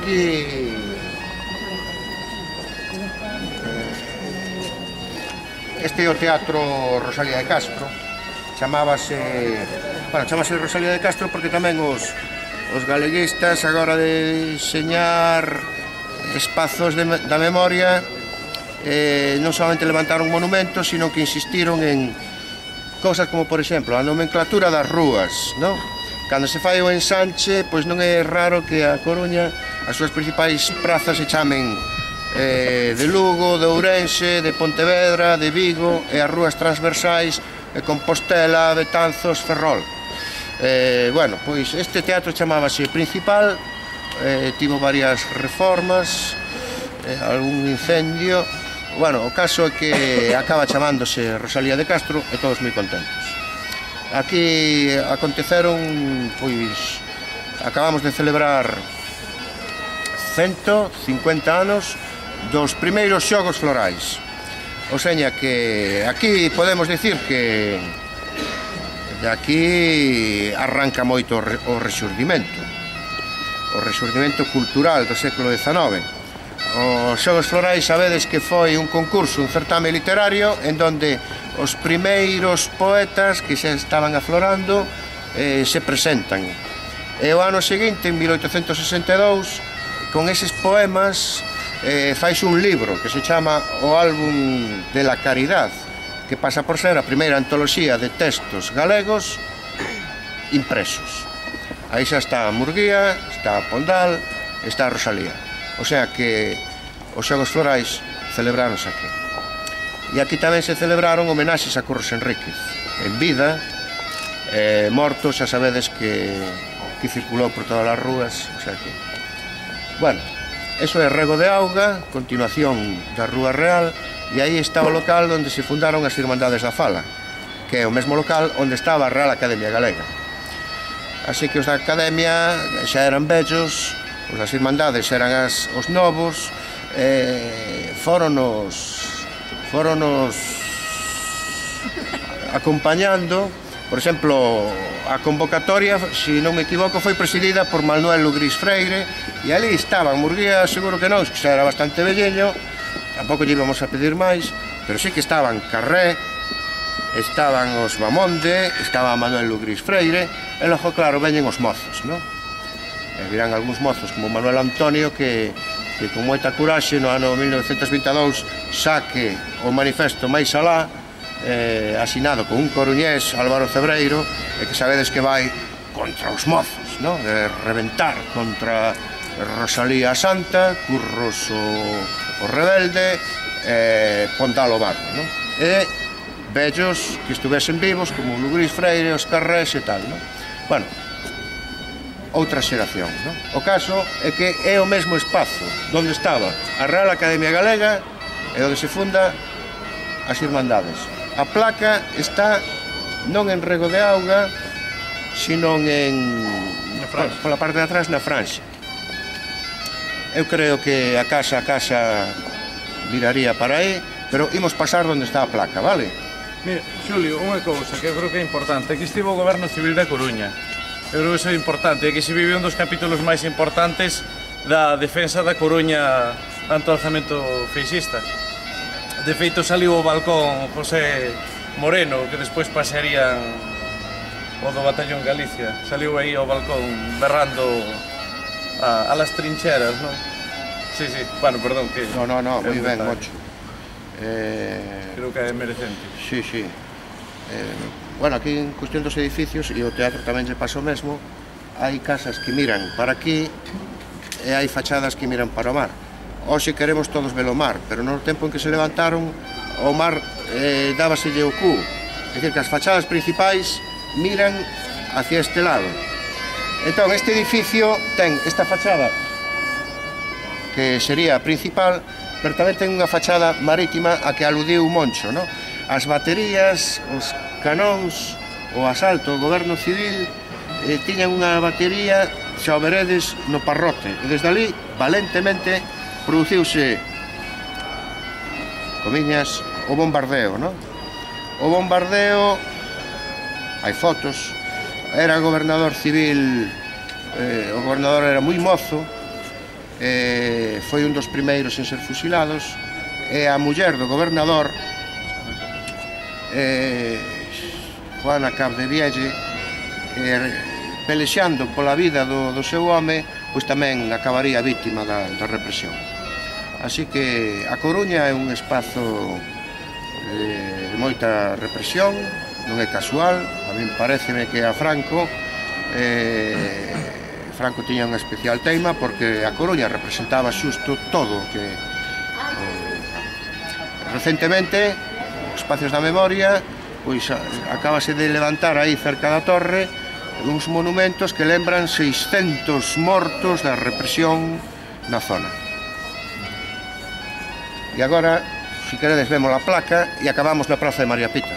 aquí este é o Teatro Rosalía de Castro. Chamase Rosalía de Castro porque tamén os galeguistas, agora de deseñar espazos da memoria, non solamente levantaron monumentos, sino que insistiron en cousas como, por exemplo, a nomenclatura das rúas, non? Cando se fai o ensanche, pois non é raro que a Coruña, as súas principais prazas se chamen de Lugo, de Ourense, de Pontevedra, de Vigo, e as rúas transversais de Compostela, Betanzos, Ferrol. Bueno, pois este teatro chamábase Principal, tivo varias reformas, algún incendio. Bueno, o caso é que acaba chamándose Rosalía de Castro e todos moi contentos. Aquí aconteceron, pois, acabamos de celebrar 150 anos dos primeiros xogos florais. O seña que aquí podemos dicir que de aquí arranca moito o rexurdimento cultural do século XIX. Os xogos florais sabedes que foi un concurso, un certame literario en donde os primeiros poetas que xa estaban aflorando se presentan. E o ano seguinte, en 1862, con eses poemas fais un libro que se chama O Álbum de la Caridad, que pasa por ser a primeira antoloxía de textos galegos impresos. Aí xa está Murguía, está Pondal, está Rosalía. O sea que os xogos florais celebráronse aquí. E aquí tamén se celebraron homenaxes a Curros Enríquez, en vida, morto, xa sabedes que circulou por todas as rúas, o sea que... Bueno, eso é Rego de Auga, continuación da Rúa Real, e aí está o local onde se fundaron as Irmandades da Fala, que é o mesmo local onde estaba a Real Academia Galega. Así que os da Academia xa eran vellos, os das Irmandades eran os novos, foronos acompañando. Por exemplo, a convocatoria, se non me equivoco, foi presidida por Manuel Lugrís Freire, e ali estaban Murguía, seguro que non, que xa era bastante velleño, tampouco lle íbamos a pedir máis, pero sí que estaban Carré, estaban os Mamonde, estaba Manuel Lugrís Freire, e logo, claro, veñen os mozos, non? E virán algúns mozos como Manuel Antonio que con moita curaxe no ano 1922 saque o manifesto máis alá, asinado con un coruñés, Álvaro Cebreiro, e que sabedes que vai contra os mozos, non? De reventar contra Rosalía Santa, Curros o rebelde, Pondal o barro, non? E vellos que estuvesen vivos como Lugrís Freire, os Carrés e tal, non? Bueno, outra xeración, non? O caso é que é o mesmo espazo onde estaba a Real Academia Galega e onde se funda as Irmandades. A placa está non en Rego de Auga, sino pola parte de atrás na Franxa. Eu creo que a casa viraría para aí, pero imos pasar onde está a placa, vale? Mira, Xulio, unha cousa que eu creo que é importante. Aquí estivo o Goberno Civil da Coruña. Eu creo que iso é importante. Aquí se vive un dos capítulos máis importantes da defensa da Coruña ante o alzamento feixista. De feito, saliu o balcón José Moreno, que despois pasarían o do Batallón Galicia. Saliu aí ao balcón berrando a las trincheras, non? Sí, sí, bueno, perdón que... No, moi ben, mocho. Creo que é merecente. Sí, sí. Bueno, aquí en cuestión dos edificios, e o teatro tamén lle pasa o mesmo, hai casas que miran para aquí e hai fachadas que miran para o mar. Hoxe queremos todos ver o mar, pero no tempo en que se levantaron, o mar dábaselle o cu. É dicir, que as fachadas principais miran hacia este lado. Entón, este edificio ten esta fachada, que sería a principal, pero tamén ten unha fachada marítima a que aludiu Moncho, non? As baterías, os canóns, o asalto ao goberno civil tiñan unha batería, xa o veredes, no Parrote, e desde ali, valentemente, produciuse, comiñas, o bombardeo, non? O bombardeo, hai fotos, era gobernador civil, o gobernador era moi mozo, foi un dos primeiros en ser fusilados, e a muller do gobernador, Juana Capdevielle, pelexando pola vida do seu home, pois tamén acabaría víctima da represión. Así que A Coruña é un espazo de moita represión, non é casual. A min pareceme que a Franco tiña unha especial teima, porque A Coruña representaba xusto todo o que recentemente, os espacios da memoria, pois acabase de levantar aí cerca da torre uns monumentos que lembran 600 mortos da represión na zona. E agora, se queredes, vemos a placa e acabamos na Praza de María Pita.